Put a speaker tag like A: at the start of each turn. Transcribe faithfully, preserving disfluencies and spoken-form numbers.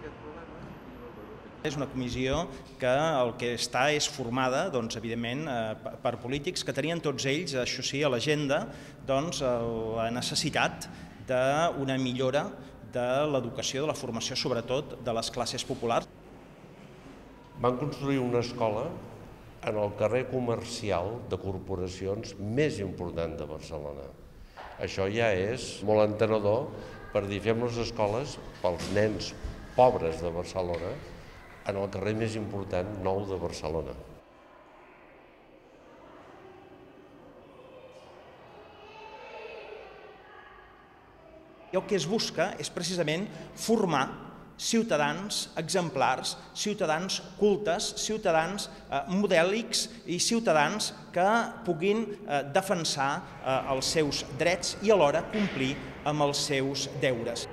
A: aquest problema.
B: És una comissió que el que està és formada, doncs, evidentment, per polítics que tenien tots ells, això sí, a l'agenda, doncs, la necessitat d'una millora de l'educació, de la formació, sobretot, de les classes populars.
C: Van construir una escola en el carrer comercial de corporacions més important de Barcelona. Això ja és molt entenedor per dir fem les escoles pels nens pobres de Barcelona en el carrer més important, nou de Barcelona.
B: I el que es busca és precisament formar ciutadans exemplars, ciutadans cultes, ciutadans modèlics i ciutadans que puguin defensar els seus drets i alhora complir amb els seus deures.